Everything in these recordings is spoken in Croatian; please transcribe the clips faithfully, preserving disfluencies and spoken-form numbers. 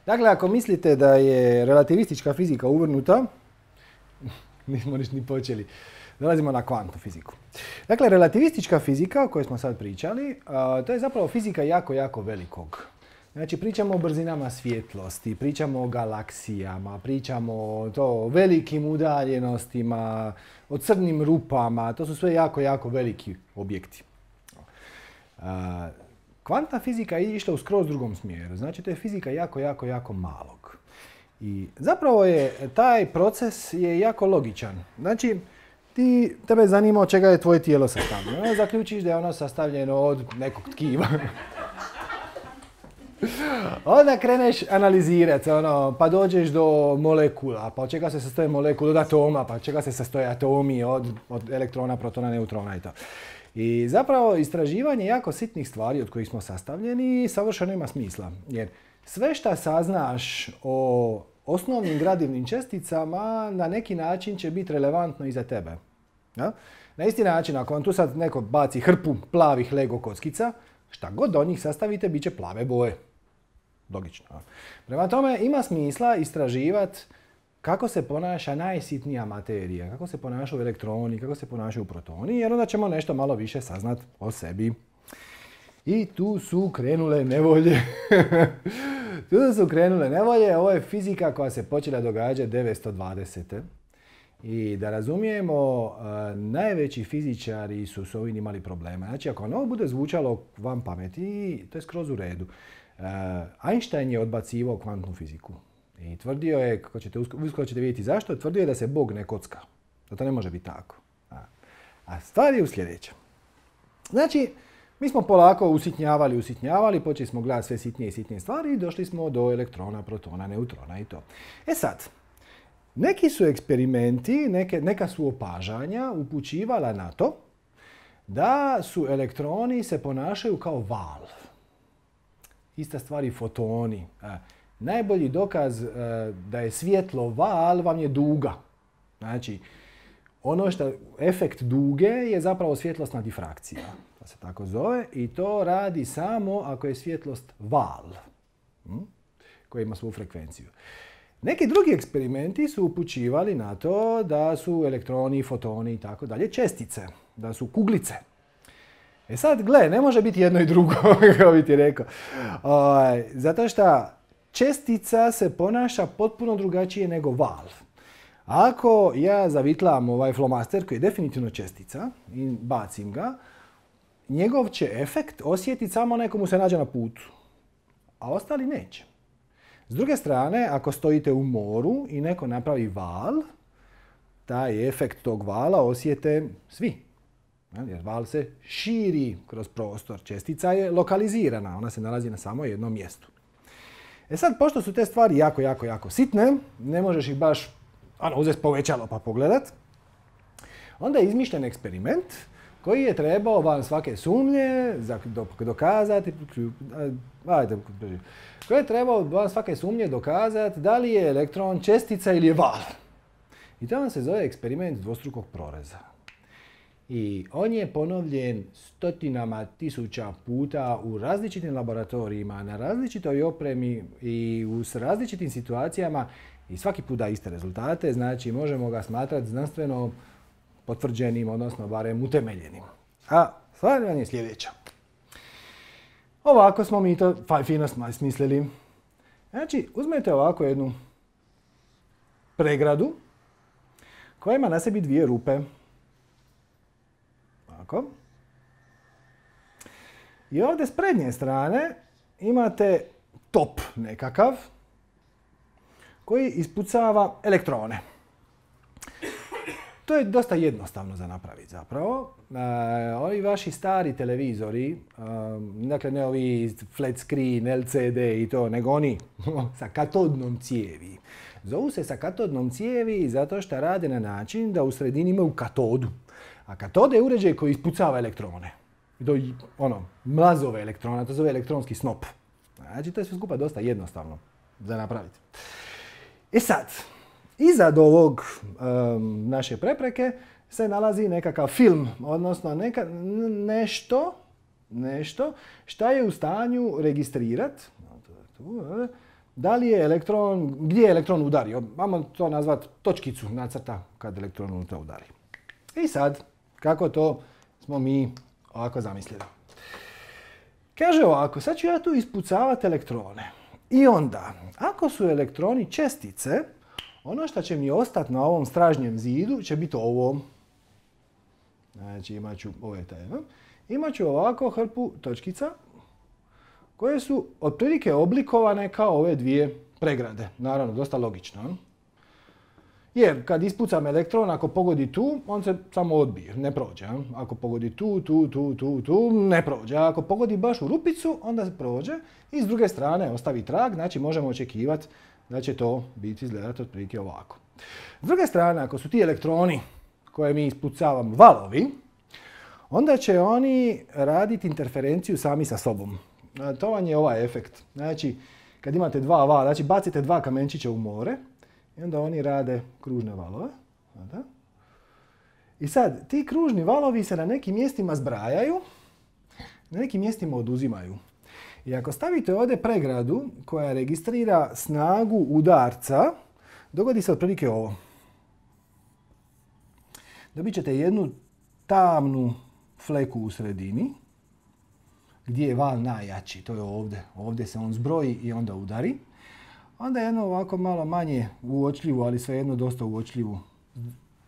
Dakle, ako mislite da je relativistička fizika uvrnuta, nismo niš ni počeli. Dolazimo na kvantnu fiziku. Dakle, relativistička fizika o kojoj smo sad pričali, a, to je zapravo fizika jako, jako velikog. Znači, pričamo o brzinama svjetlosti, pričamo o galaksijama, pričamo o to, velikim udaljenostima, o crnim rupama, to su sve jako, jako veliki objekti. A, kvantna fizika je išla u skroz drugom smjeru, znači to je fizika jako, jako, jako malog. I zapravo je taj proces je jako logičan. Znači, ti, tebe zanima od čega je tvoje tijelo sastavljeno. Zaključiš da je ono sastavljeno od nekog tkiva. Onda kreneš analizirati, ono, pa dođeš do molekula, pa od čega se sastoje molekula, od atoma, pa od čega se sastoje atomi, od, od elektrona, protona, neutrona i to. I zapravo istraživanje jako sitnih stvari od kojih smo sastavljeni savršeno ima smisla. Jer sve što saznaš o osnovnim gradivnim česticama na neki način će biti relevantno i za tebe. Ja? Na isti način, ako vam tu sad neko baci hrpu plavih Lego kockica, šta god od njih sastavite, bit će plave boje. Logično. Prema tome, ima smisla istraživati kako se ponaša najsitnija materija, kako se ponašaju elektroni, kako se ponašaju protoni, jer onda ćemo nešto malo više saznati o sebi. I tu su krenule nevolje. tu su krenule nevolje. Ovo je fizika koja se počela događati devetsto dvadesete. I da razumijemo, uh, najveći fizičari su s ovim imali problema. Znači, ako ono bude zvučalo van pameti, to je skroz u redu. Uh, Einstein je odbacivao kvantnu fiziku. I tvrdio je, kako ćete, uskoro ćete vidjeti zašto, tvrdio je da se Bog ne kocka. Da to ne može biti tako. A, a stvar je u sljedećem. Znači, mi smo polako usitnjavali, usitnjavali, počeli smo gledati sve sitnije i sitnije stvari i došli smo do elektrona, protona, neutrona i to. E sad, neki su eksperimenti, neke, neka su opažanja upućivala na to da su elektroni se ponašaju kao val. Ista stvar i fotoni. E, najbolji dokaz e, da je svjetlo val vam je duga. Znači, ono što efekt duge je zapravo svjetlosna difrakcija. To se tako zove i to radi samo ako je svjetlost val, hm? koji ima svoju frekvenciju. Neki drugi eksperimenti su upućivali na to da su elektroni, fotoni i tako dalje čestice, da su kuglice. E sad, gle, ne može biti jedno i drugo, kako bi ti rekao. O, zato što čestica se ponaša potpuno drugačije nego val. Ako ja zavitlam ovaj flomaster koji je definitivno čestica i bacim ga, njegov će efekt osjetiti samo neko mu se nađe na putu, a ostali neće. S druge strane, ako stojite u moru i neko napravi val, taj efekt tog vala osjete svi. Jer val se širi kroz prostor. Čestica je lokalizirana, ona se nalazi na samo jednom mjestu. E sad, pošto su te stvari jako, jako, jako sitne, ne možeš ih baš ono, uzeti povećalo pa pogledat, onda je izmišljen eksperiment koji je trebao van svake sumnje dokazati, ajde, koji je trebao van svake sumnje dokazati da li je elektron čestica ili je val. I to vam se zove eksperiment dvostrukog proreza. I on je ponovljen stotinama tisuća puta u različitim laboratorijima, na različitoj opremi i u različitim situacijama i svaki put da iste rezultate, znači možemo ga smatrati znanstveno potvrđenim, odnosno barem utemeljenim. A stvar vam je sljedeća. Ovako smo mi to fino smislili. Znači, uzmete ovako jednu pregradu koja ima na sebi dvije rupe. Ovako. I ovdje s prednje strane imate top nekakav koji ispucava elektrone. To je dosta jednostavno za napraviti zapravo. E, ovi vaši stari televizori, um, dakle ne ovi flat screen, L C D i to, nego oni sa katodnom cijevi. Zovu se sa katodnom cijevi zato što rade na način da u sredini imaju katodu. A katoda je uređaj koji ispucava elektrone. I to ono, mlazove elektrona, to zove elektronski snop. Znači to je sve skupa dosta jednostavno za napraviti. E sad, iza ovog um, naše prepreke se nalazi nekakav film, odnosno neka, nešto, nešto šta je u stanju registrirati da li je elektron, gdje je elektron udario. Vamo to nazvati točkicu nacrta kad elektron unutra udari. I sad, kako to smo mi ovako zamislili. Kaže ovako, sad ću ja tu ispucavati elektrone. I onda, ako su elektroni čestice, ono što će mi ostati na ovom stražnjem zidu će biti ovo. Znači imat ću, ovo je taj, imat ću ovako hrpu točkica koje su otprilike oblikovane kao ove dvije pregrade. Naravno, dosta logično. Jer kad ispucam elektron, ako pogodi tu, on se samo odbije, ne prođe. Ako pogodi tu, tu, tu, tu, tu, ne prođe. A ako pogodi baš u rupicu, onda se prođe i s druge strane ostavi trag, znači možemo očekivati da će to biti izgledati otprilike ovako. S druge strane, ako su ti elektroni koje mi ispucavamo valovi, onda će oni raditi interferenciju sami sa sobom. To vam je ovaj efekt. Znači, kad imate dva vala, znači bacite dva kamenčića u more i onda oni rade kružne valove. I sad, ti kružni valovi se na nekim mjestima zbrajaju, na nekim mjestima oduzimaju. I ako stavite ovdje pregradu koja registrira snagu udarca, dogodi se otprilike ovo. Dobit ćete jednu tamnu fleku u sredini, gdje je val najjači, to je ovdje. Ovdje se on zbroji i onda udari. Onda jedno ovako malo manje uočljivu, ali svejedno dosta uočljivu,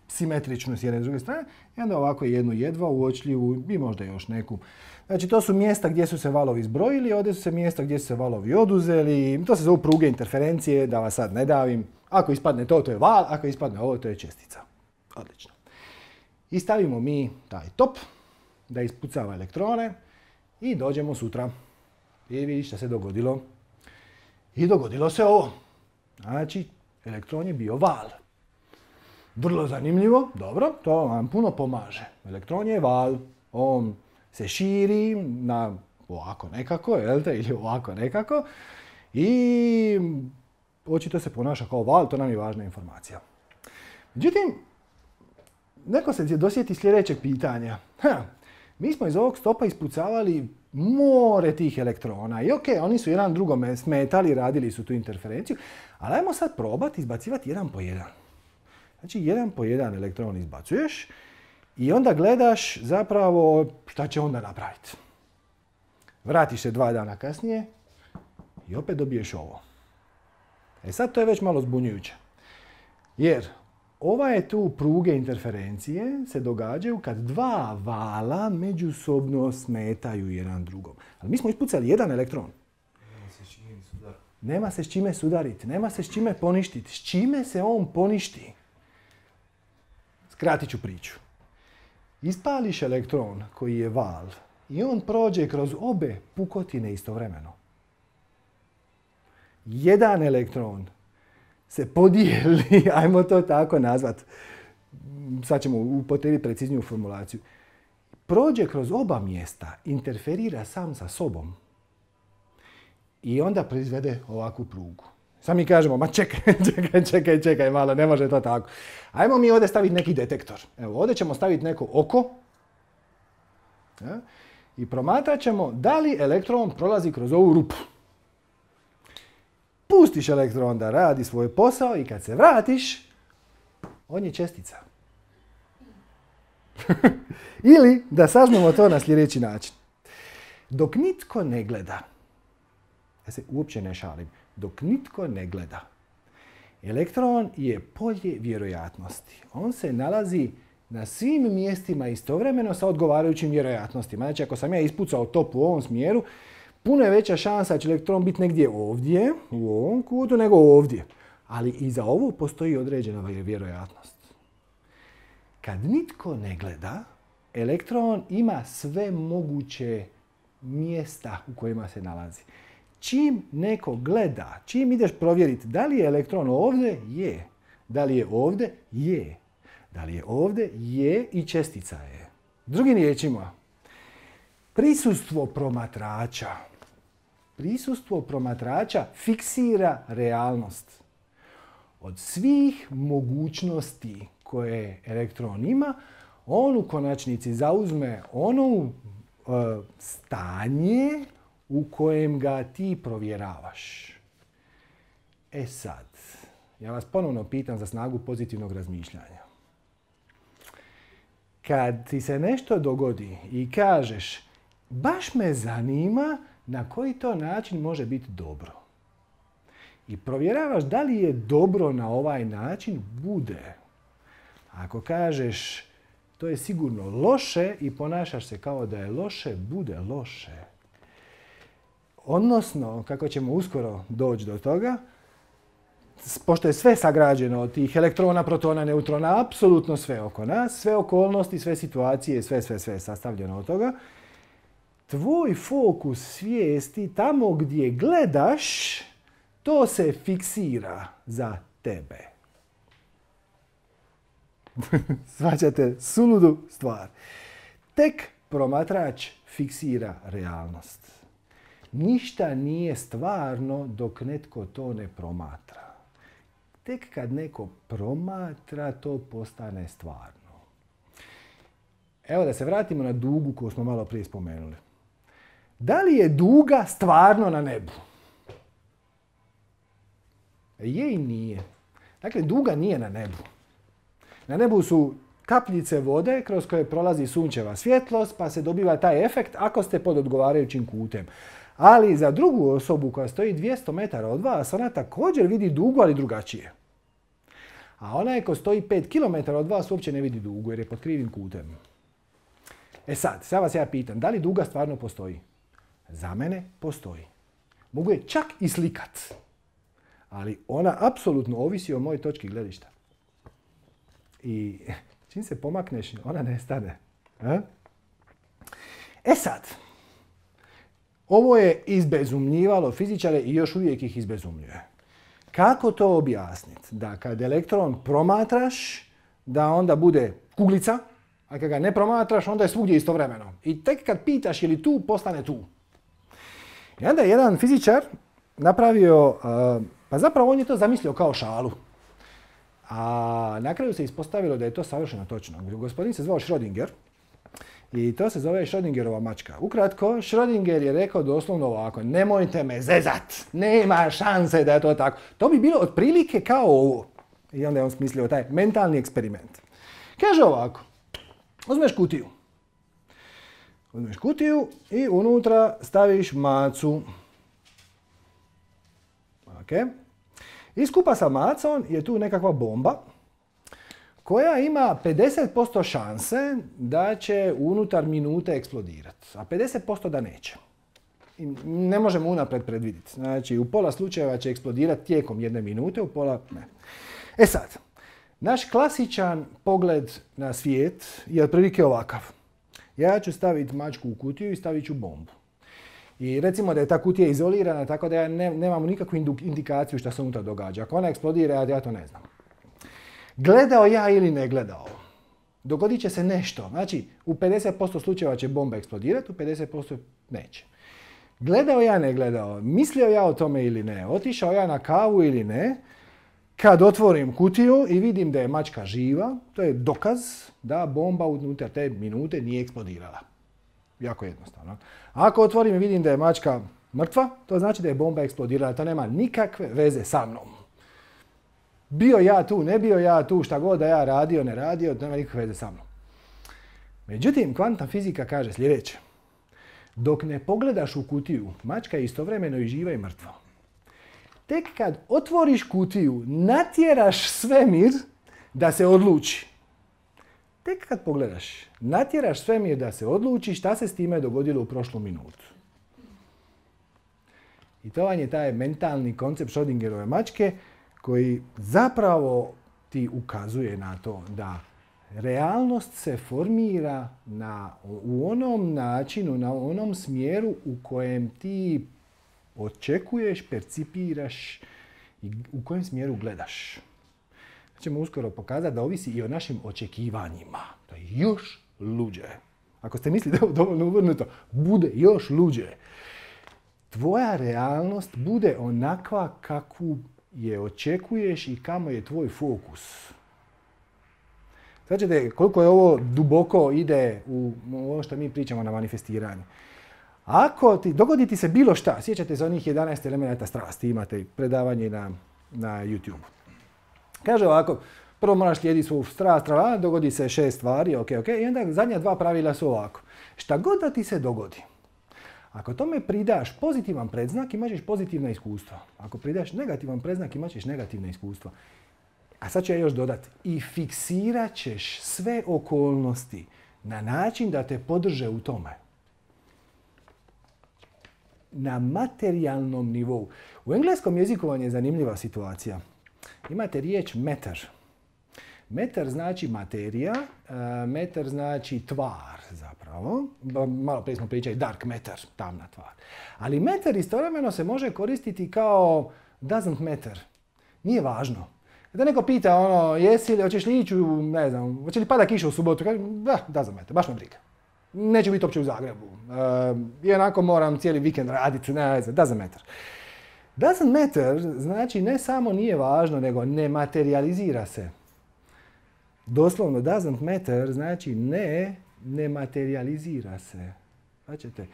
simetričnu s jedne i druge strane. I onda ovako jednu jedva uočljivu i možda još neku. Znači to su mjesta gdje su se valovi zbrojili, ovdje su se mjesta gdje su se valovi oduzeli. To se zovu pruge interferencije, da vas sad ne davim. Ako ispadne to, to je val, ako ispadne ovo, to je čestica. Odlično. I stavimo mi taj top da ispucava elektrone i dođemo sutra. I vidi što se dogodilo. I dogodilo se ovo. Znači, elektron je bio val. Vrlo zanimljivo, dobro, to vam puno pomaže. Elektron je val, on se širi na ovako nekako, jel te, ili ovako nekako. I očito se ponaša kao val, to nam je važna informacija. Međutim, neko se dosjeti sljedećeg pitanja. Ha, mi smo iz ovog stopa ispucavali more tih elektrona i ok, oni su jedan drugome smetali, radili su tu interferenciju, ali ajmo sad probati izbacivati jedan po jedan. Znači, jedan po jedan elektron izbacuješ i onda gledaš zapravo šta će onda napraviti. Vratiš se dva dana kasnije i opet dobiješ ovo. E sad to je već malo zbunjujuće. Jer ove tu pruge interferencije se događaju kad dva vala međusobno smetaju jedan drugom. Ali mi smo ispucali jedan elektron. Nema se s čime sudariti. Nema se s čime sudariti, nema se s čime poništiti. S čime se on poništi? Skratit ću priču. Ispališ elektron koji je val i on prođe kroz obe pukotine istovremeno. Jedan elektron se podijeli, ajmo to tako nazvat, sad ćemo upotrijebiti precizniju formulaciju, prođe kroz oba mjesta, interferira sam sa sobom i onda proizvede ovakvu prugu. Sad mi kažemo, ma čekaj, čekaj, čekaj, čekaj malo, ne može to tako. Ajmo mi ovdje staviti neki detektor. Evo, ovdje ćemo staviti neko oko ja, i promatrat ćemo da li elektron prolazi kroz ovu rupu. Pustiš elektron da radi svoj posao i kad se vratiš, on je čestica. Ili da saznamo to na sljedeći način. Dok nitko ne gleda, ja se uopće ne šalim, dok nitko ne gleda, elektron je polje vjerojatnosti. On se nalazi na svim mjestima istovremeno sa odgovarajućim vjerojatnostima. Znači, ako sam ja ispucao top u ovom smjeru, puno je veća šansa da će elektron biti negdje ovdje, u ovom kutu, nego ovdje. Ali i za ovo postoji određena vjerojatnost. Kad nitko ne gleda, elektron ima sve moguće mjesta u kojima se nalazi. Čim neko gleda, čim ideš provjeriti da li je elektron ovdje, je. Da li je ovdje, je. Da li je ovdje, je i čestica je. Drugim riječima, prisustvo promatrača. Prisustvo promatrača fiksira realnost. Od svih mogućnosti koje elektron ima, on u konačnici zauzme ono e, stanje u kojem ga ti provjeravaš. E sad, ja vas ponovno pitam za snagu pozitivnog razmišljanja. Kad ti se nešto dogodi i kažeš, baš me zanima na koji to način može biti dobro. I provjeravaš da li je dobro na ovaj način, bude. Ako kažeš, to je sigurno loše i ponašaš se kao da je loše, bude loše. Odnosno, kako ćemo uskoro doći do toga, pošto je sve sagrađeno od tih elektrona, protona, neutrona, apsolutno sve oko nas, sve okolnosti, sve situacije, sve, sve, sve je sastavljeno od toga, tvoj fokus svijesti tamo gdje gledaš, to se fiksira za tebe. Shvaćate suludu stvar. Tek promatrač fiksira realnost. Ništa nije stvarno dok netko to ne promatra. Tek kad neko promatra, to postane stvarno. Evo da se vratimo na dugu koju smo malo prije spomenuli. Da li je duga stvarno na nebu? Je i nije. Dakle, duga nije na nebu. Na nebu su kapljice vode kroz koje prolazi sunčeva svjetlost, pa se dobiva taj efekt ako ste pod odgovarajućim kutem. Ali za drugu osobu koja stoji dvjesto metara od vas, ona također vidi dugu, ali drugačije. A onaj ko stoji pet kilometara od vas uopće ne vidi dugu jer je pod krivim kutem. E sad, sad vas ja pitam, da li duga stvarno postoji? Za mene postoji. Mogu je čak i slikat. Ali ona apsolutno ovisi o mojoj točki gledišta. I čim se pomakneš, ona nestane. A? E sad, ovo je izbezumljivalo fizičare i još uvijek ih izbezumljuje. Kako to objasniti? Da kad elektron promatraš, da onda bude kuglica, a kad ga ne promatraš, onda je svugdje istovremeno. I tek kad pitaš je li tu, postane tu. I onda je jedan fizičar napravio, uh, pa zapravo on je to zamislio kao šalu. A na kraju se ispostavilo da je to savršeno točno. Gospodin se zvao Schrödinger i to se zove Schrödingerova mačka. Ukratko, Schrödinger je rekao doslovno ovako, nemojte me zezat, nema šanse da je to tako. To bi bilo otprilike kao ovo. I onda je on smislio taj mentalni eksperiment. Kaže ovako, uzmeš kutiju. Uzmeš kutiju i unutra staviš macu. Okay. I skupa sa macom je tu nekakva bomba koja ima pedeset posto šanse da će unutar minute eksplodirati, a pedeset posto da neće. I ne možemo unaprijed predvidjeti. Znači, u pola slučajeva će eksplodirati tijekom jedne minute, u pola ne. E sad, naš klasičan pogled na svijet je otprilike ovakav. Ja ću staviti mačku u kutiju i stavit ću bombu. I recimo da je ta kutija izolirana, tako da ja ne, nemamo nikakvu indikaciju što se unutra događa. Ako ona eksplodira, ja to ne znam. Gledao ja ili ne gledao, dogodit će se nešto. Znači, u pedeset posto slučajeva će bomba eksplodirati, u pedeset posto neće. Gledao ja, ne gledao, mislio ja o tome ili ne, otišao ja na kavu ili ne, kad otvorim kutiju i vidim da je mačka živa, to je dokaz da bomba unutar te minute nije eksplodirala. Jako jednostavno. Ako otvorim i vidim da je mačka mrtva, to znači da je bomba eksplodirala. To nema nikakve veze sa mnom. Bio ja tu, ne bio ja tu, šta god da ja radio, ne radio, to nema nikakve veze sa mnom. Međutim, kvantna fizika kaže sljedeće. Dok ne pogledaš u kutiju, mačka je istovremeno i živa i mrtva. Tek kad otvoriš kutiju, natjeraš svemir da se odluči. Tek kad pogledaš, natjeraš svemir da se odluči šta se s time dogodilo u prošlu minutu. I to vam je taj mentalni koncept Schrödingerove mačke koji zapravo ti ukazuje na to da realnost se formira na, u onom načinu, na onom smjeru u kojem ti očekuješ, percipiraš i u kojem smjeru gledaš. Ćemo uskoro pokazati da ovisi i o našim očekivanjima. To je još luđe. Ako ste mislili da je dovoljno uvrnuto, bude još luđe. Tvoja realnost bude onakva kakvu je očekuješ i kamo je tvoj fokus. Sad ćete koliko je ovo duboko ide u ovo što mi pričamo na manifestiranju. Ako ti dogodi ti se bilo šta, sjećate se onih jedanaest elemenata strasti, imate predavanje na na YouTube. Kaže ovako, prvo moraš slijediti svoju strast, dogodi se šest stvari, ok, ok, i onda zadnja dva pravila su ovako. Šta god da ti se dogodi, ako tome pridaš pozitivan predznak, imat ćeš pozitivna iskustva. Ako pridaš negativan predznak, imat ćeš negativna iskustva. A sad ću ja još dodati. I fiksirat ćeš sve okolnosti na način da te podrže u tome. Na materijalnom nivou. U engleskom jeziku vam je zanimljiva situacija. Imate riječ matter. Matter znači materija, matter znači tvar zapravo. Malo prije smo pričali dark matter, tamna tvar. Ali matter istovremeno se može koristiti kao doesn't matter. Nije važno. Da neko pita ono, jesi li, hoćeš li ići u, ne znam, hoće li pada kiša u subotu? Kaže, da, doesn't matter, baš me briga. Neću biti uopće u Zagrebu. Uh, I onako moram cijeli vikend raditi, ne znam, doesn't matter. Doesn't matter znači ne samo nije važno, nego ne materializira se. Doslovno doesn't matter znači ne, ne materializira se. Značite,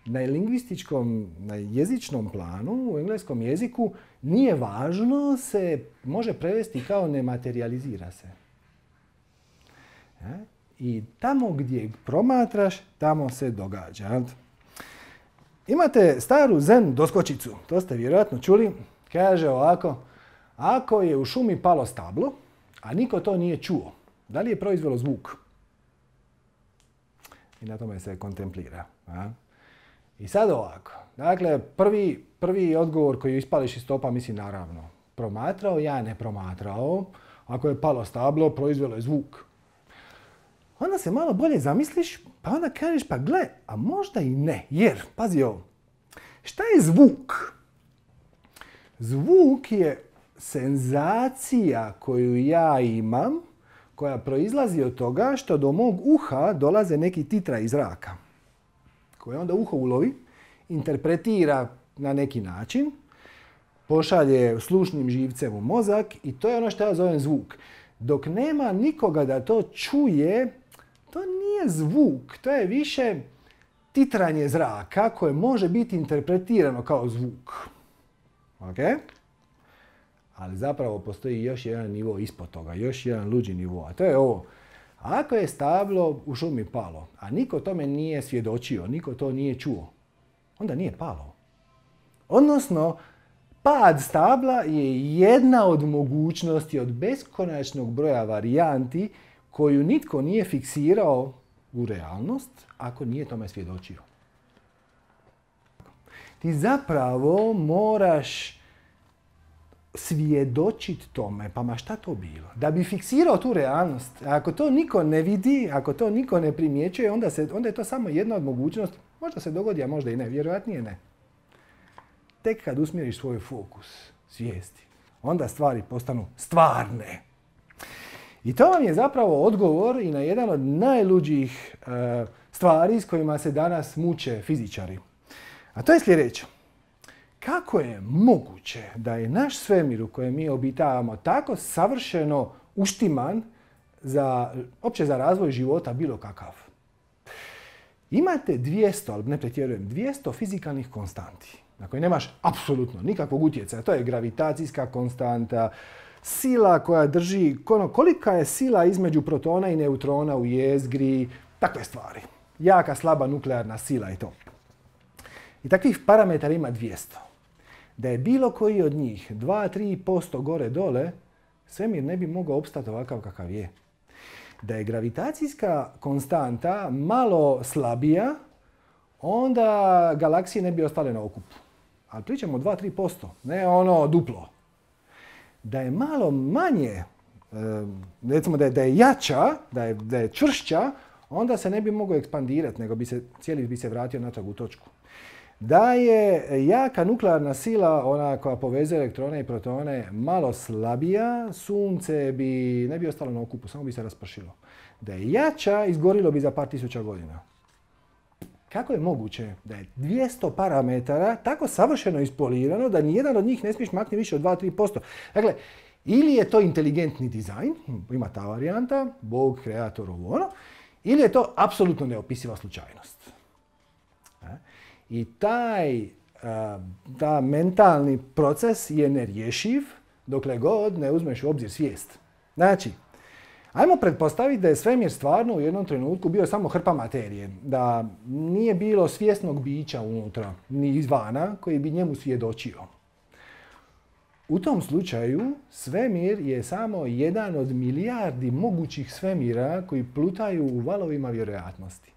na lingvističkom, na jezičnom planu, u engleskom jeziku, nije važno se može prevesti kao ne materializira se. Ja? I tamo gdje promatraš, tamo se događa. Imate staru zen doskočicu, to ste vjerojatno čuli. Kaže ovako, ako je u šumi palo stablo, a niko to nije čuo, da li je proizvelo zvuk? I na tome se kontemplira. A? I sad ovako, dakle, prvi, prvi odgovor koji ispališ iz topa, misli naravno, promatrao, ja ne promatrao, ako je palo stablo, proizvelo je zvuk. Onda se malo bolje zamisliš, pa onda kažeš, pa gle, a možda i ne, jer, pazi ovo, šta je zvuk? Zvuk je senzacija koju ja imam, koja proizlazi od toga što do mog uha dolaze neki titraji zraka, koje onda uho ulovi, interpretira na neki način, pošalje slušnim živcem u mozak i to je ono što ja zovem zvuk. Dok nema nikoga da to čuje, to nije zvuk, to je više titranje zraka koje može biti interpretirano kao zvuk. Ok? Ali zapravo postoji još jedan nivo ispod toga, još jedan luđi nivo, a to je ovo. Ako je stablo u šumi palo, a niko tome nije svjedočio, niko to nije čuo, onda nije palo. Odnosno, pad stabla je jedna od mogućnosti, od beskonačnog broja varijanti koju nitko nije fiksirao u realnost ako nije tome svjedočio. Ti zapravo moraš svjedočiti tome, pa ma šta to bilo? Da bi fiksirao tu realnost, ako to niko ne vidi, ako to niko ne primjećuje, onda, se, onda je to samo jedna od mogućnosti. Možda se dogodi, a možda i ne. Vjerojatnije ne. Tek kad usmjeriš svoj fokus svijesti, onda stvari postanu stvarne. I to vam je zapravo odgovor i na jedan od najluđih e, stvari s kojima se danas muče fizičari. A to je sljedeće. Kako je moguće da je naš svemir u kojem mi obitavamo tako savršeno uštiman za, opće za razvoj života bilo kakav? Imate dvjesto, ali ne pretjerujem, dvjesto fizikalnih konstanti na koje nemaš apsolutno nikakvog utjecaja. To je gravitacijska konstanta, sila koja drži, kolika je sila između protona i neutrona u jezgri, takve stvari. Jaka, slaba nuklearna sila i to. I takvih parametara ima dvjesto. Da je bilo koji od njih dva do tri posto gore dole, svemir ne bi mogao opstati ovakav kakav je. Da je gravitacijska konstanta malo slabija, onda galaksije ne bi ostale na okupu. Ali pričamo o dva do tri posto, ne ono duplo. Da je malo manje, recimo da je, da je jača, da je, da je čvršća, onda se ne bi mogao ekspandirati, nego bi se, cijeli bi se vratio natrag u točku. Da je jaka nuklearna sila, ona koja povezuje elektrone i protone, malo slabija, sunce bi ne bi ostalo na okupu, samo bi se raspršilo. Da je jača, izgorilo bi za par tisuća godina. Kako je moguće da je dvjesto parametara tako savršeno ispolirano da nijedan od njih ne smiješ maknuti više od dva do tri posto? Dakle, ili je to inteligentni dizajn, ima ta varijanta, Bog, kreator, ovo ono, ili je to apsolutno neopisiva slučajnost. I taj, ta mentalni proces je nerješiv dokle god ne uzmeš u obzir svijest. Znači, ajmo pretpostaviti da je svemir stvarno u jednom trenutku bio samo hrpa materije, da nije bilo svjesnog bića unutra, ni izvana, koji bi njemu svjedočio. U tom slučaju svemir je samo jedan od milijardi mogućih svemira koji plutaju u valovima vjerojatnosti.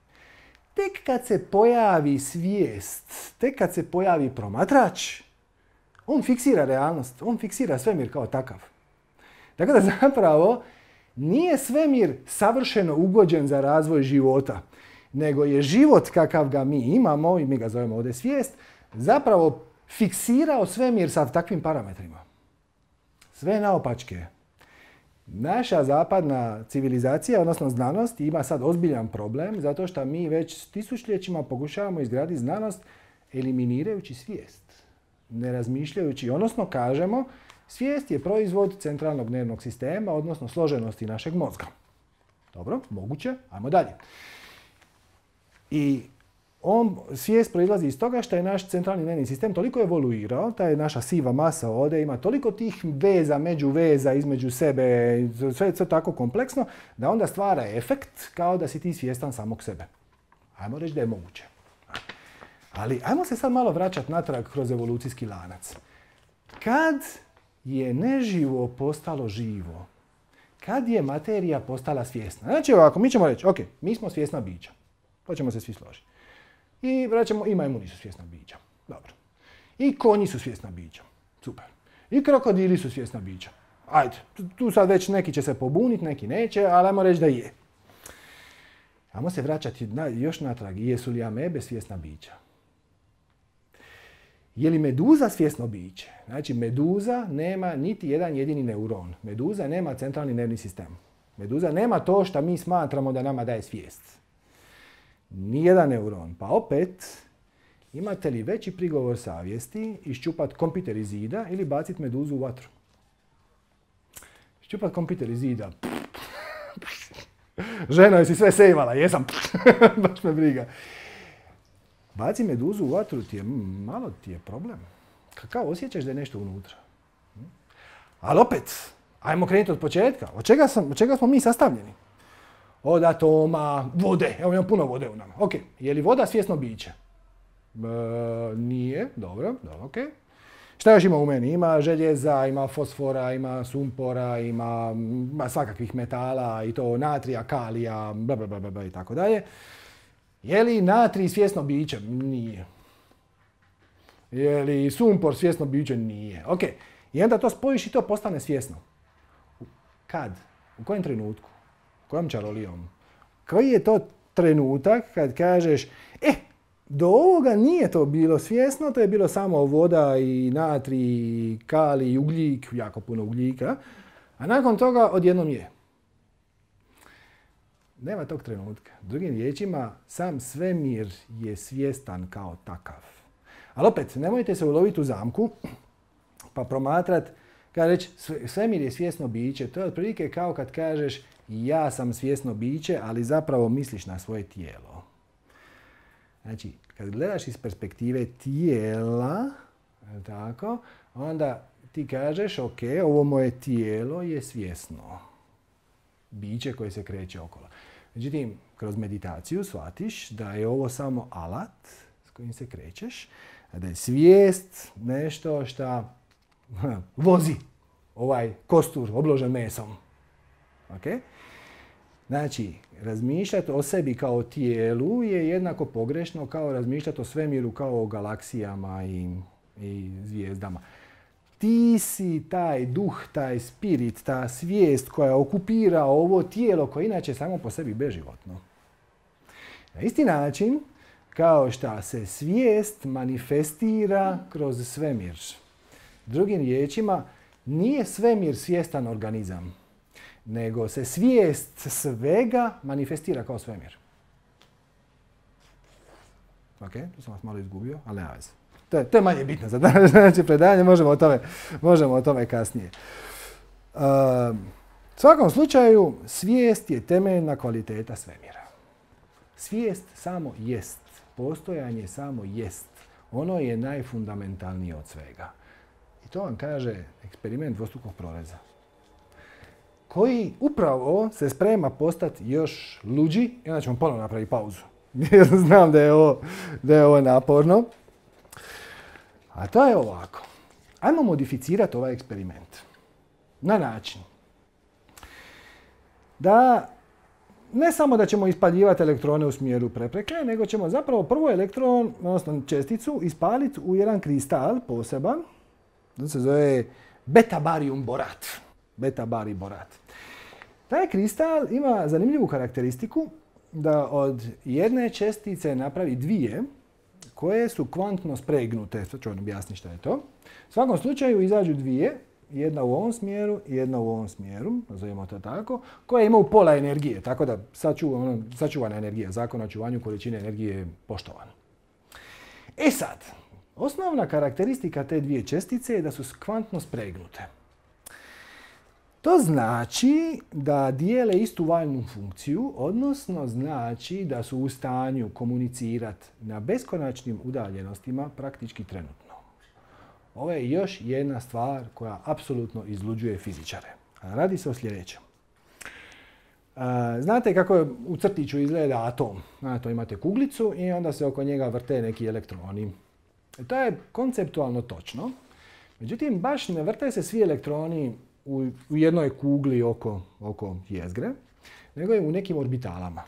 Tek kad se pojavi svijest, tek kad se pojavi promatrač, on fiksira realnost, on fiksira svemir kao takav. Tako da zapravo nije svemir savršeno ugođen za razvoj života, nego je život kakav ga mi imamo, i mi ga zovemo ovdje svijest, zapravo fiksirao svemir sa takvim parametrima. Sve naopačke. Naša zapadna civilizacija, odnosno znanost, ima sad ozbiljan problem zato što mi već tisućljećima pokušavamo izgraditi znanost eliminirajući svijest. Ne razmišljajući, odnosno kažemo, svijest je proizvod centralnog nervnog sistema, odnosno složenosti našeg mozga. Dobro, moguće, ajmo dalje. I on, svijest proizlazi iz toga što je naš centralni nervni sistem toliko evoluirao, ta je naša siva masa ovdje, ima toliko tih veza, među veza, između sebe, sve je tako kompleksno, da onda stvara efekt kao da si ti svjestan samog sebe. Ajmo reći da je moguće. Ali ajmo se sad malo vraćati natrag kroz evolucijski lanac. Kad je neživo postalo živo? Kad je materija postala svjesna? Znači ovako, mi ćemo reći, ok, mi smo svjesna bića. To ćemo se svi složiti. I rećemo, i majmuni su svjesna bića. Dobro. I konji su svjesna bića. Super. I krokodili su svjesna bića. Ajde, tu sad već neki će se pobuniti, neki neće, ali ajmo reći da je. Ajmo se vraćati na, još natrag. Jesu li amebe svjesna bića? Je li meduza svjesno biće? Znači, meduza nema niti jedan jedini neuron. Meduza nema centralni nervni sistem. Meduza nema to što mi smatramo da nama daje svijest. Nijedan neuron. Pa opet, imate li veći prigovor savjesti iščupat kompjuter iz zida ili baciti meduzu u vatru? Iščupat kompjuter iz zida. Ženo, jesi sve sejvala? Jesam. Baš me briga. Baci meduzu u vatru ti je, malo ti je problem. Kao osjećaš da je nešto unutra. Ali opet, ajmo krenuti od početka. Od čega, sam, od čega smo mi sastavljeni? Od atoma, vode. Evo imamo puno vode u nama. Ok, je li voda svjesno biće? E, nije, dobro, dobro, ok. Šta još ima u meni? Ima željeza, ima fosfora, ima sumpora, ima, ima svakakvih metala i to natrija, kalija, bla, bla, bla, bla, i tako dalje. Je li natrij svjesno biće? Nije. Je li sumpor svjesno biće? Nije. Ok, i onda to spojiš i to postane svjesno. Kad? U kojem trenutku? Kojom čarolijom? Koji je to trenutak kad kažeš, e, do ovoga nije to bilo svjesno, to je bilo samo voda i natrij, kalij, ugljik, jako puno ugljika, a nakon toga odjednom je. Nema tog trenutka. Drugim riječima, sam svemir je svjestan kao takav. Ali opet, nemojte se uloviti u zamku pa promatrati, kada reći svemir je svjesno biće, to je otprilike kao kad kažeš ja sam svjesno biće, ali zapravo misliš na svoje tijelo. Znači, kad gledaš iz perspektive tijela, tako, onda ti kažeš, ok, ovo moje tijelo je svjesno biće koje se kreće okolo. Međutim, kroz meditaciju shvatiš da je ovo samo alat s kojim se krećeš, a da je svijest nešto što vozi ovaj kostur obložen mesom. Okay? Znači, razmišljati o sebi kao tijelu je jednako pogrešno kao razmišljati o svemiru kao o galaksijama i, i zvijezdama. Ti si taj duh, taj spirit, ta svijest koja okupira ovo tijelo koje inače samo po sebi beživotno. Na isti način kao što se svijest manifestira kroz svemir. Drugim riječima, nije svemir svjestan organizam, nego se svijest svega manifestira kao svemir. Ok, tu sam vas malo izgubio, ali nema veze. To je, to je manje bitno za današnje predavanje, možemo o tome, možemo o tome kasnije. Uh, u svakom slučaju, svijest je temeljna kvaliteta svemira. Svijest samo jest. Postojanje samo jest. Ono je najfundamentalnije od svega. I to vam kaže eksperiment dvostrukog proreza, koji upravo se sprema postati još luđi i onda ćemo ponovno napraviti pauzu. Znam da je, ovo, da je ovo naporno. A to je ovako. Ajmo modificirati ovaj eksperiment na način da ne samo da ćemo ispaljivati elektrone u smjeru prepreke, nego ćemo zapravo prvo elektron, odnosno česticu, ispaliti u jedan kristal poseban. To se zove beta-barium borat. Beta-bari borat. Taj kristal ima zanimljivu karakteristiku da od jedne čestice napravi dvije koje su kvantno spregnute. Sad ću vam objasniti šta je to. U svakom slučaju izađu dvije, jedna u ovom smjeru i jedna u ovom smjeru, nazovimo to tako, koje imaju pola energije, tako da sačuvana, sačuvana energija, zakon o očuvanju količine energije je poštovan. E sad, osnovna karakteristika te dvije čestice je da su kvantno spregnute. To znači da dijele istu valjnu funkciju, odnosno znači da su u stanju komunicirati na beskonačnim udaljenostima praktički trenutno. Ovo je još jedna stvar koja apsolutno izluđuje fizičare. Radi se o sljedećem. Znate kako u crtiću izgleda atom? Znate, imate kuglicu i onda se oko njega vrte neki elektroni. To je konceptualno točno. Međutim, baš ne vrte se svi elektroni u, u jednoj kugli oko, oko jezgre, nego je u nekim orbitalama.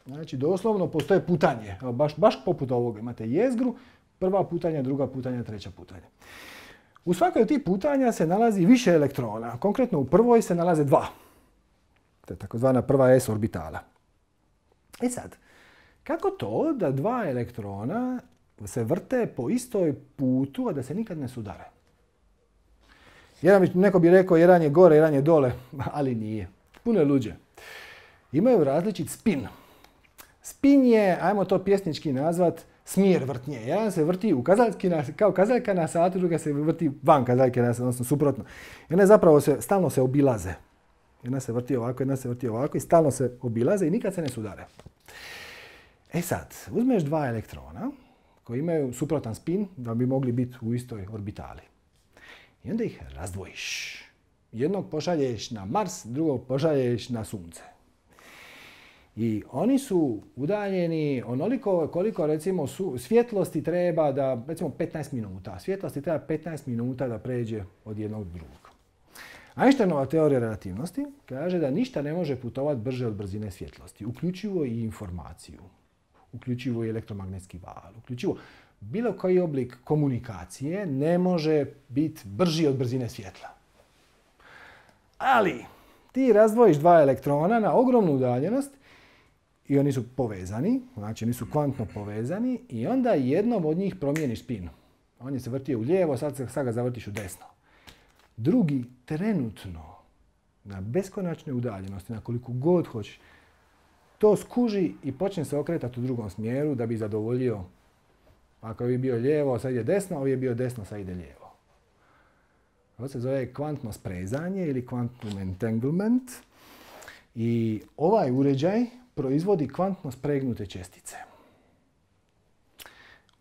Znači, doslovno postoje putanje. Evo, baš, baš poput ovoga. Imate jezgru, prva putanja, druga putanja, treća putanja. U svakoj od tih putanja se nalazi više elektrona. Konkretno u prvoj se nalaze dva. To je takozvana prva S orbitala. E sad, kako to da dva elektrona se vrte po istoj putu, a da se nikad ne sudare? Jedan bi, neko bi rekao jedan je gore, jedan je dole, ali nije. Puno je luđe. Imaju različit spin. Spin je, ajmo to pjesnički nazvat, smjer vrtnje. Jedan se vrti u kazaljki, kao kazaljka na satu, druga se vrti van kazaljke na satu, odnosno suprotno. I one zapravo se, stalno se obilaze. Jedna se vrti ovako, jedna se vrti ovako i stalno se obilaze i nikad se ne sudare. E sad, uzmeš dva elektrona koji imaju suprotan spin da bi mogli biti u istoj orbitali. I onda ih razdvojiš. Jednog pošalješ na Mars, drugog pošalješ na Sunce. I oni su udaljeni onoliko koliko recimo su, svjetlosti treba da, recimo petnaest minuta. Svjetlosti treba petnaest minuta da pređe od jednog do drugog. Einsteinova teorija relativnosti kaže da ništa ne može putovati brže od brzine svjetlosti, uključivo i informaciju, uključivo i elektromagnetski val, uključivo bilo koji oblik komunikacije ne može biti brži od brzine svjetla. Ali ti razdvojiš dva elektrona na ogromnu udaljenost i oni su povezani, znači oni su kvantno povezani i onda jednom od njih promijeniš spin. On je se vrtio u lijevo, sad, sad ga zavrtiš u desno. Drugi trenutno na beskonačnoj udaljenosti, na koliko god hoćeš, to skuži i počne se okretati u drugom smjeru da bi zadovoljio. Ako je bio lijevo, sad ide desno, ovo je bio desno, sad ide lijevo. To se zove kvantno sprezanje ili quantum entanglement. I ovaj uređaj proizvodi kvantno spregnute čestice.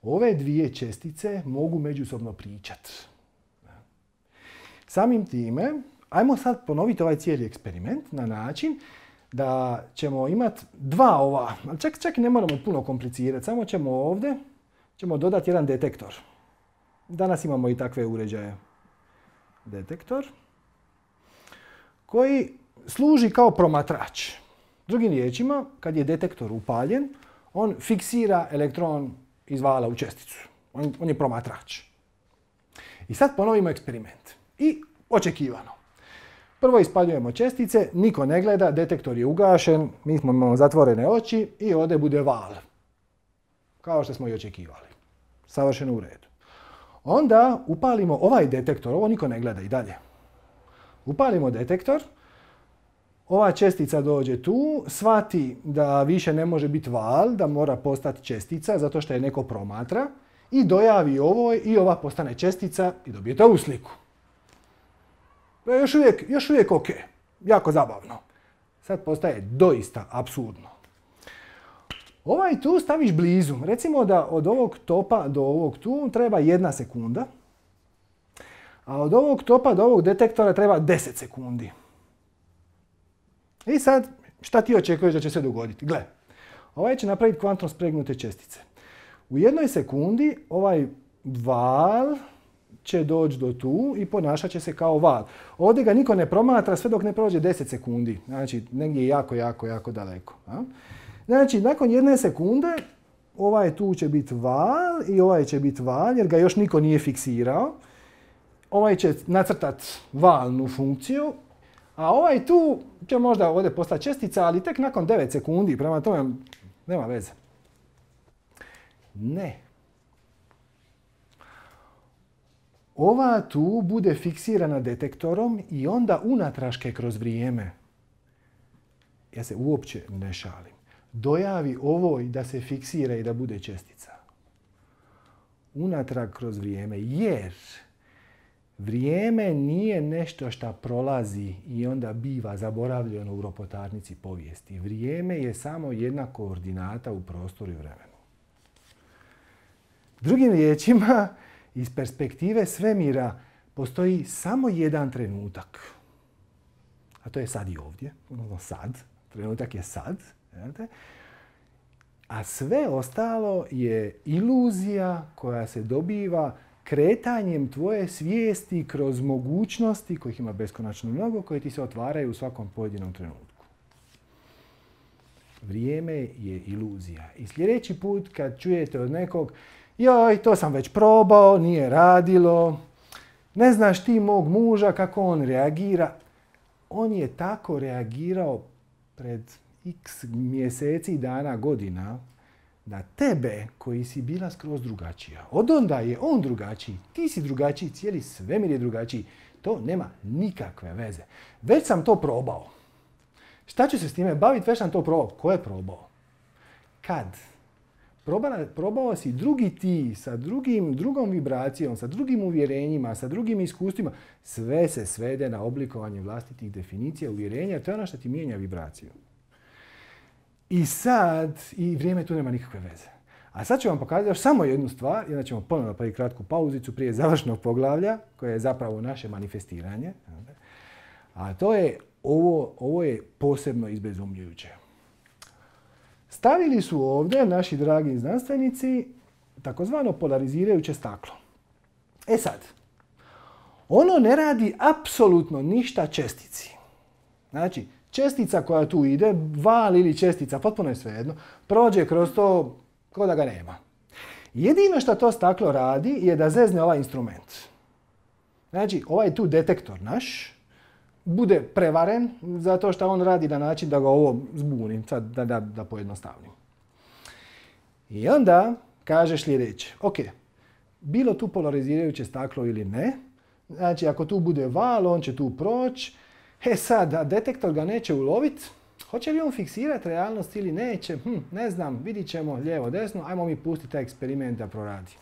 Ove dvije čestice mogu međusobno pričati. Samim time, ajmo sad ponoviti ovaj cijeli eksperiment na način da ćemo imati dva ova, ali čak, čak i ne moramo puno komplicirati, samo ćemo ovdje ćemo dodati jedan detektor. Danas imamo i takve uređaje. Detektor koji služi kao promatrač. Drugim riječima, kad je detektor upaljen, on fiksira elektron iz vala u česticu. On, on je promatrač. I sad ponovimo eksperiment. I očekivano. Prvo ispaljujemo čestice, niko ne gleda, detektor je ugašen, mi smo imamo zatvorene oči i ovdje bude val. Kao što smo i očekivali. Savršeno u redu. Onda upalimo ovaj detektor, ovo niko ne gleda i dalje. Upalimo detektor, ova čestica dođe tu, shvati da više ne može biti val, da mora postati čestica zato što je neko promatra i dojavi ovoj i ova postane čestica i dobijete ovu sliku. To je još uvijek, još uvijek ok, jako zabavno. Sad postaje doista apsurdno. Ovaj tu staviš blizu. Recimo da od ovog topa do ovog tu treba jedna sekunda. A od ovog topa do ovog detektora treba deset sekundi. I sad, šta ti očekuješ da će se dogoditi? Gle, ovaj će napraviti kvantno spregnute čestice. U jednoj sekundi ovaj val će doći do tu i ponašat će se kao val. Ovdje ga niko ne promatra sve dok ne prođe deset sekundi. Znači, negdje jako, jako, jako daleko. A? Znači, nakon jedne sekunde, ovaj tu će biti val i ovaj će biti val, jer ga još niko nije fiksirao. Ovaj će nacrtati valnu funkciju, a ovaj tu će možda ovdje postati čestica, ali tek nakon devet sekundi, prema tome nema veze. Ne. Ova tu bude fiksirana detektorom i onda unatraške kroz vrijeme, ja se uopće ne šalim, dojavi ovoj da se fiksira i da bude čestica. Unatrag kroz vrijeme, jer vrijeme nije nešto što prolazi i onda biva zaboravljeno u ropotarnici povijesti. Vrijeme je samo jedna koordinata u prostoru i vremenu. Drugim riječima, iz perspektive svemira postoji samo jedan trenutak. A to je sad i ovdje. Sad. Trenutak je sad. A sve ostalo je iluzija koja se dobiva kretanjem tvoje svijesti kroz mogućnosti, kojih ima beskonačno mnogo, koje ti se otvaraju u svakom pojedinom trenutku. Vrijeme je iluzija. I sljedeći put kad čujete od nekog joj, to sam već probao, nije radilo, ne znaš ti mog muža kako on reagira. On je tako reagirao pred x mjeseci, dana, godina, da tebe koji si bila skroz drugačija. Od onda je on drugačiji, ti si drugačiji, cijeli svemir je drugačiji. To nema nikakve veze. Već sam to probao. Šta ću se s time baviti? Već sam to probao. Ko je probao? Kad? Probala, probao si drugi ti, sa drugim, drugom vibracijom, sa drugim uvjerenjima, sa drugim iskustvima. Sve se svede na oblikovanje vlastitih definicija, uvjerenja. To je ono što ti mijenja vibraciju. I sad, i vrijeme tu nema nikakve veze. A sad ću vam pokazati još samo jednu stvar, i onda ćemo ponovno napraviti kratku pauzicu prije završnog poglavlja, koje je zapravo naše manifestiranje. A to je, ovo, ovo je posebno izbezumljujuće. Stavili su ovdje naši dragi znanstvenici takozvano polarizirajuće staklo. E sad, ono ne radi apsolutno ništa čestici. Znači, čestica koja tu ide, val ili čestica, potpuno je svejedno, prođe kroz to kao da ga nema. Jedino što to staklo radi je da zezne ovaj instrument. Znači, ovaj tu detektor naš bude prevaren zato što on radi na način da ga ovo zbuni, sad da, da, da pojednostavnim. I onda kažeš sljedeće, ok, bilo tu polarizirajuće staklo ili ne, znači ako tu bude val, on će tu proći, e sad, a detektor ga neće uloviti, hoće li on fiksirati realnost ili neće, hm, ne znam, vidit ćemo lijevo, desno, ajmo mi pustiti taj eksperiment da proradi.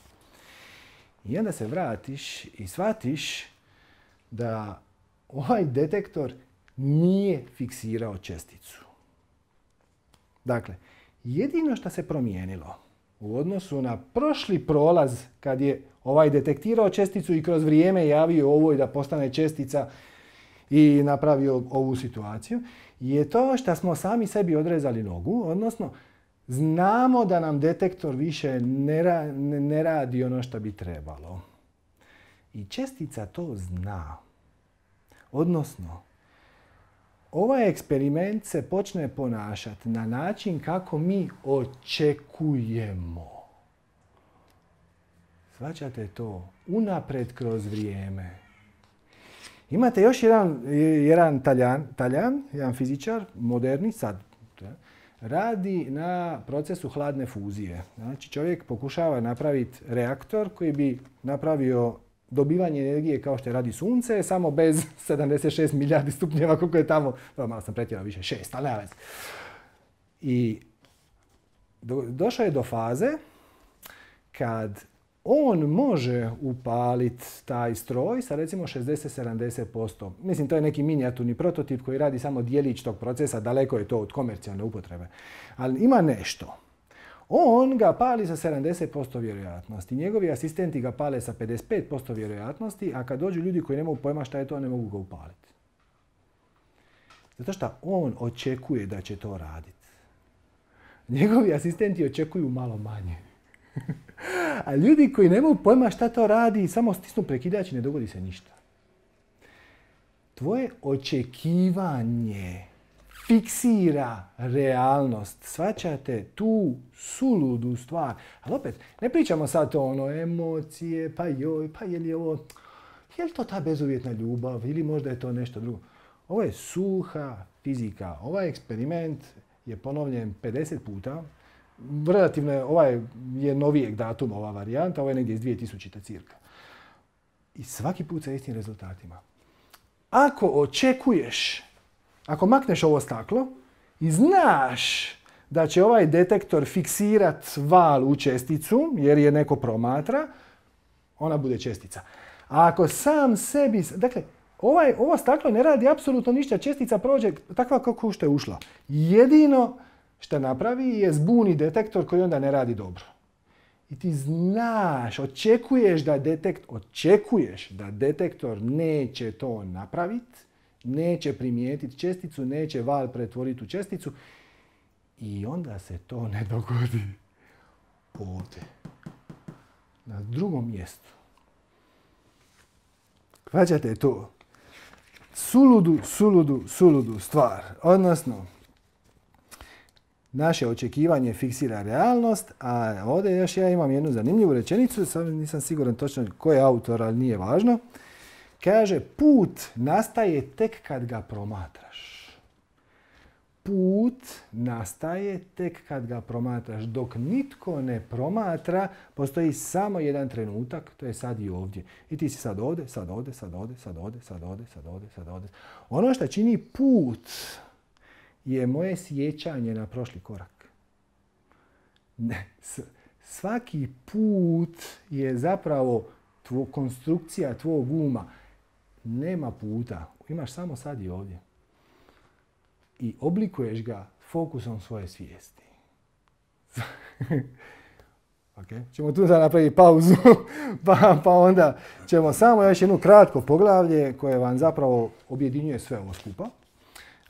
I onda se vratiš i shvatiš da ovaj detektor nije fiksirao česticu. Dakle, jedino što se promijenilo u odnosu na prošli prolaz kad je ovaj detektirao česticu i kroz vrijeme javio ovoj da postane čestica i napravio ovu situaciju, je to što smo sami sebi odrezali nogu, odnosno znamo da nam detektor više ne, ra- ne radi ono što bi trebalo. I čestica to zna. Odnosno, ovaj eksperiment se počne ponašati na način kako mi očekujemo. Shvaćate to? Unaprijed kroz vrijeme. Imate još jedan, jedan taljan, taljan, jedan fizičar, moderni, sad, radi na procesu hladne fuzije. Znači, čovjek pokušava napraviti reaktor koji bi napravio dobivanje energije kao što radi sunce, samo bez sedamdeset šest milijardi stupnjeva koliko je tamo, no, malo sam pretjerao više, šest, ali nema veze. I do, došao je do faze kad on može upaliti taj stroj sa recimo šezdeset do sedamdeset posto. Mislim, to je neki minijaturni prototip koji radi samo dijelić tog procesa, daleko je to od komercijalne upotrebe. Ali ima nešto. On ga pali sa sedamdeset posto vjerojatnosti. Njegovi asistenti ga pale sa pedeset pet posto vjerojatnosti, a kad dođu ljudi koji ne mogu pojma šta je to, ne mogu ga upaliti. Zato što on očekuje da će to raditi. Njegovi asistenti očekuju malo manje. A ljudi koji ne mogu pojma šta to radi, samo stisnu prekidač i ne dogodi se ništa. Tvoje očekivanje fiksira realnost. Shvaćate tu suludu stvar. Ali opet, ne pričamo sad to ono emocije, pa joj, pa je li ovo, je li to ta bezuvjetna ljubav ili možda je to nešto drugo. Ovo je suha fizika. Ovaj eksperiment je ponovljen pedeset puta. Relativno je, ovaj je novijeg datuma, ova varijanta, ovo je negdje iz dvije tisućite cirka. I svaki put sa istim rezultatima. Ako očekuješ, ako makneš ovo staklo i znaš da će ovaj detektor fiksirat val u česticu, jer je neko promatra, ona bude čestica. A ako sam sebi... Dakle, ovaj, ovo staklo ne radi apsolutno ništa, čestica prođe takva kako što je ušla. Jedino što napravi je zbuni detektor koji onda ne radi dobro. I ti znaš, očekuješ da, detekt, očekuješ da detektor neće to napraviti, neće primijetiti česticu, neće val pretvoriti u česticu i onda se to ne dogodi ovdje, na drugom mjestu. Hvaćate to? Suludu, suludu, suludu stvar. Odnosno, naše očekivanje fiksira realnost, a ovdje još ja imam jednu zanimljivu rečenicu, sad nisam siguran točno ko je autor, ali nije važno. Kaže, put nastaje tek kad ga promatraš. Put nastaje tek kad ga promatraš. Dok nitko ne promatra, postoji samo jedan trenutak, to je sad i ovdje. I ti si sad ovdje, sad ovdje, sad ovdje, sad ovdje, sad ovdje, sad ovdje, sad ovdje. Ono što čini put je moje sjećanje na prošli korak. Ne, svaki put je zapravo tvo, konstrukcija tvog uma. Nema puta. Imaš samo sad i ovdje. I oblikuješ ga fokusom svoje svijesti. Okay. Ćemo tu da napraviti pauzu, pa, pa onda ćemo samo još jedno kratko poglavlje koje vam zapravo objedinjuje sve ovo skupa.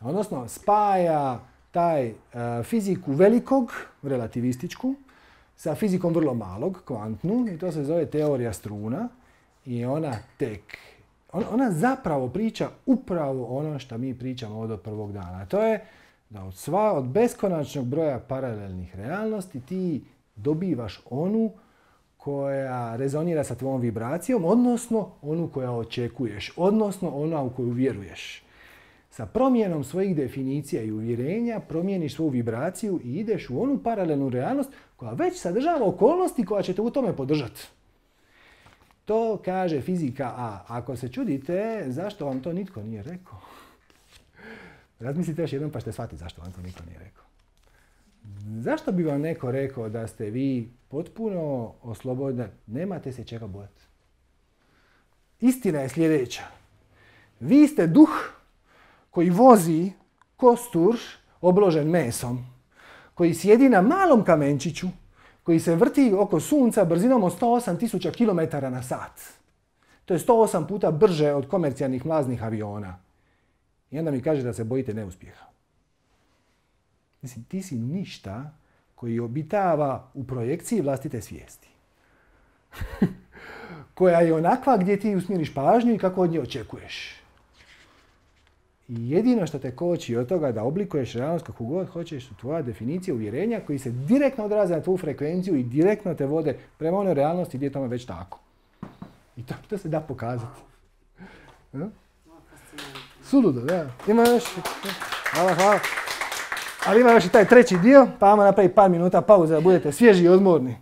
Odnosno, spaja taj uh, fiziku velikog, relativističku, sa fizikom vrlo malog, kvantnu, i to se zove teorija struna. I ona tek, on, ona zapravo priča upravo ono što mi pričamo od prvog dana. A to je da od, sva, od beskonačnog broja paralelnih realnosti ti dobivaš onu koja rezonira sa tvojom vibracijom, odnosno onu koja očekuješ, odnosno ona u koju vjeruješ. Sa promjenom svojih definicija i uvjerenja promijeniš svoju vibraciju i ideš u onu paralelnu realnost koja već sadržava okolnosti koja će te u tome podržati. To kaže fizika A. Ako se čudite, zašto vam to nitko nije rekao? Razmislite još jednom pa ćete shvatiti zašto vam to nitko nije rekao. Zašto bi vam neko rekao da ste vi potpuno oslobodni? Nemate se čega bojati. Istina je sljedeća. Vi ste duh koji vozi kostur obložen mesom, koji sjedi na malom kamenčiću, koji se vrti oko sunca brzinom od sto osam tisuća kilometara na sat. To je sto osam puta brže od komercijalnih mlaznih aviona. I onda mi kaže da se bojite neuspjeha. Mislim, ti si ništa koji obitava u projekciji vlastite svijesti. Koja je onakva gdje ti usmjeriš pažnju i kako od nje očekuješ. I jedino što te koči od toga da oblikuješ realnost kako god hoćeš su tvoja definicija uvjerenja koji se direktno odraze na tvoju frekvenciju i direktno te vode prema onoj realnosti gdje je tome već tako. I to, to se da pokazati. Ja? Suludo, da. Ima još... Hvala, hvala. Ali ima još i taj treći dio, pa ajmo napraviti par minuta pauze da budete svježi i odmorni.